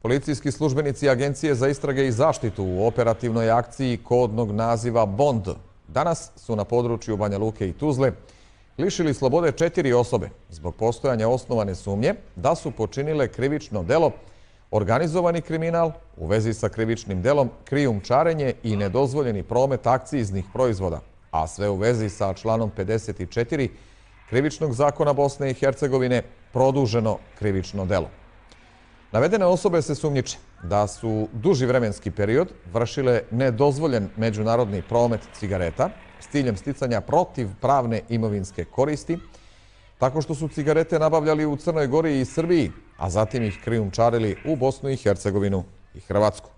Policijski službenici Agencije za istrage i zaštitu u operativnoj akciji kodnog naziva Bond danas su na području Banja Luke i Tuzle lišili slobode 4 osobe zbog postojanja osnovane sumnje da su počinile krivično delo, organizovani kriminal u vezi sa krivičnim delom, krijumčarenje i nedozvoljeni promet akciznih proizvoda, a sve u vezi sa članom 54 Krivičnog zakona Bosne i Hercegovine, produženo krivično delo. Navedene osobe se sumnjiče da su duži vremenski period vršile nedozvoljen međunarodni promet cigareta s ciljem sticanja protivpravne imovinske koristi, tako što su cigarete nabavljali u Crnoj Gori i Srbiji, a zatim ih krijumčarili u Bosnu i Hercegovinu i Hrvatsku.